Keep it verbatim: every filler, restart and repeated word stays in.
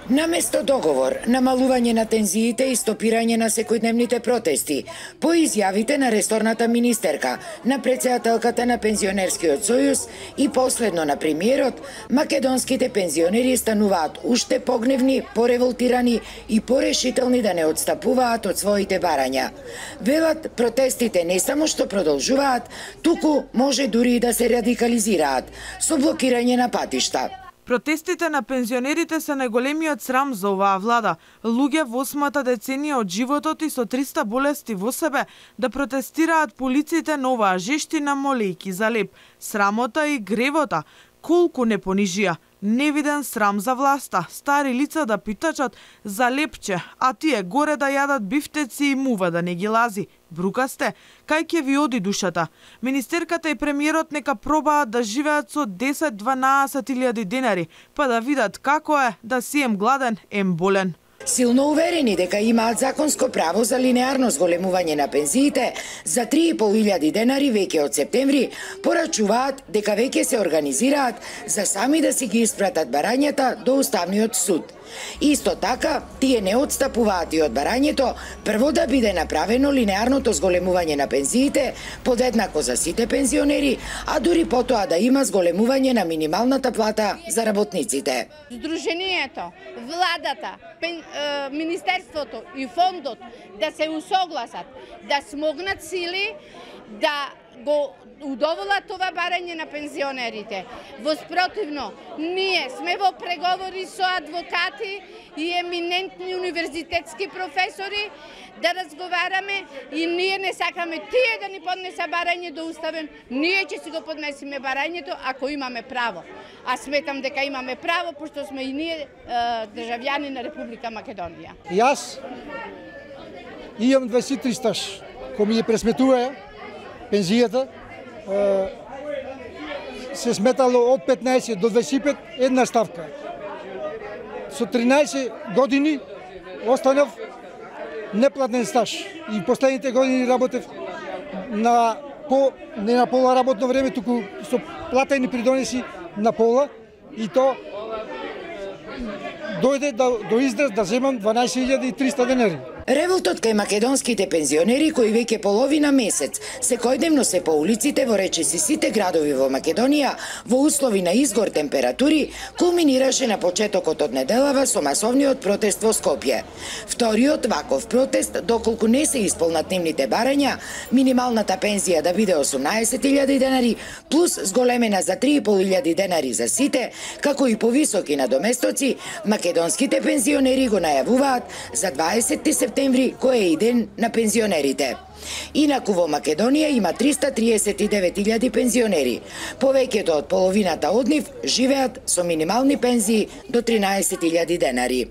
Наместо договор, намалување на тензиите и стопирање на секојдневните протести, по изјавите на ресорната министерка, на претседателката на Пензионерскиот сојуз и последно на премиерот, македонските пензионери стануваат уште погневни, пореволтирани и порешителни да не отстапуваат од своите барања. Велат, протестите не само што продолжуваат, туку може дури и да се радикализираат со блокирање на патишта. Протестите на пензионерите се најголемиот срам за оваа влада. Луѓе во осмата деценија од животот и со триста болести во себе да протестираат по улиците на оваа жештина молејки за леп. Срамота и гревота колку не понижија. Невиден срам за власта, стари лица да питачат за лепче, а тие горе да јадат бифтеци и мува да не ги лази. Брукасте, кај ќе ви оди душата? Министерката и премиерот нека пробаат да живеат со десет-дванаесет илјади денари, па да видат како е да си ем гладен, ем болен. Силно уверени дека имаат законско право за линеарно зголемување на пензиите, за три и пол илјади денари веќе од септември порачуваат дека веќе се организираат за сами да си ги испратат барањата до Уставниот суд. Исто така, тие не отстапуваат и од барањето прво да биде направено линеарното зголемување на пензиите подеднако за сите пензионери, а дури потоа да има зголемување на минималната плата за работниците. Сдруженијето, владата, пен, е, министерството и фондот да се усогласат, да смогнат сили да го удоволат това барање на пензионерите. Воспротивно, ние сме во преговори со адвокати и еминентни универзитетски професори да разговараме и ние не сакаме тие да ни поднеса барање до Уставен, ние ќе си го поднесиме барањето ако имаме право. А сметам дека имаме право, пошто сме и ние државјани на Република Македонија. Јас имам дваесет и три стаж, кој ми ја пресметува пензијата, се сметало од петнаесет до дваесет и пет една ставка. Со тринаесет години останав неплатен стаж и последните години работев на по не на пола работно време, туку со платени придонеси на пола и то дојде до, до израз да земам дванаесет илјади и триста денари. Револтот кај македонските пензионери кои веќе половина месец секојдневно се по улиците во речиси сите градови во Македонија во услови на изгор температури кулминираше на почетокот од неделава со масовниот протест во Скопје. Вториот ваков протест, доколку не се исполнат нивните барања, минималната пензија да биде осумнаесет илјади денари плюс зголемена за три и пол илјади денари за сите, како и повисоки надоместоци, македонските пензионери го најавуваат за дваесети септември кој е и ден на пензионерите. Инаку во Македонија има триста триесет и девет илјади пензионери. Повеќето од половината од нив живеат со минимални пензии до тринаесет илјади денари.